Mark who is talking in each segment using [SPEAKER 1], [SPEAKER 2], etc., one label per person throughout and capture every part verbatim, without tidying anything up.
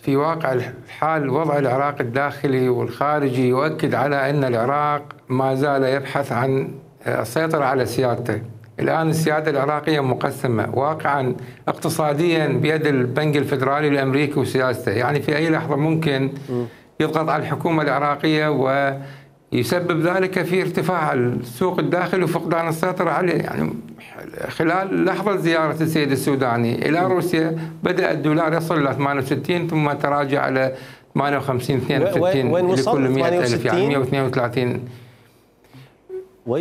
[SPEAKER 1] في واقع الحال وضع العراق الداخلي والخارجي يؤكد على أن العراق ما زال يبحث عن السيطرة على سيادته. الآن السيادة العراقية مقسمة واقعا اقتصاديا بيد البنك الفدرالي الأمريكي وسياسته، يعني في أي لحظة ممكن يضغط على الحكومة العراقية ويسبب ذلك في ارتفاع السوق الداخلي وفقدان السيطرة عليه. يعني خلال لحظة زيارة السيد السوداني إلى روسيا بدأ الدولار يصل إلى ثمانية وستين ثم تراجع على ثمانية وخمسين اثنين وستين لكل مئة ألف، يعني مئة واثنين وثلاثين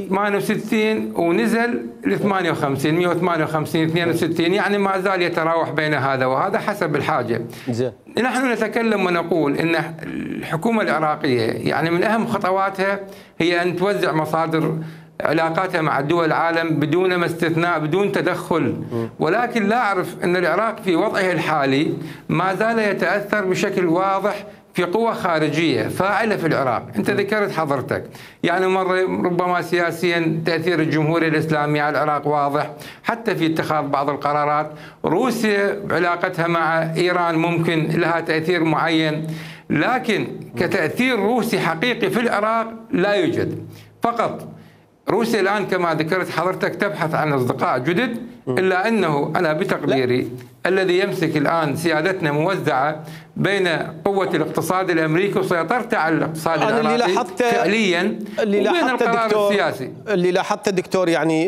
[SPEAKER 1] ثمانية وستين ونزل ل ثمانية وخمسين مئة وثمانية وخمسين اثنين وستين، يعني ما زال يتراوح بين هذا وهذا حسب الحاجة. زين. نحن نتكلم ونقول ان الحكومة العراقية يعني من اهم خطواتها هي ان توزع مصادر علاقاتها مع دول العالم بدون ما استثناء، بدون تدخل، ولكن لا أعرف أن العراق في وضعه الحالي ما زال يتأثر بشكل واضح في قوة خارجية فاعلة في العراق. أنت ذكرت حضرتك يعني مرة ربما سياسيا تأثير الجمهورية الإسلامية على العراق واضح، حتى في اتخاذ بعض القرارات. روسيا بعلاقتها مع إيران ممكن لها تأثير معين، لكن كتأثير روسي حقيقي في العراق لا يوجد. فقط روسيا الآن كما ذكرت حضرتك تبحث عن أصدقاء جدد، إلا أنه أنا بتقديري لا. الذي يمسك الآن سيادتنا موزعة بين قوة الاقتصاد الأمريكي وسيطرته على الاقتصاد العراقي فعليا
[SPEAKER 2] اللي
[SPEAKER 1] وبين القرار
[SPEAKER 2] الدكتور
[SPEAKER 1] السياسي
[SPEAKER 2] اللي لاحظته دكتور يعني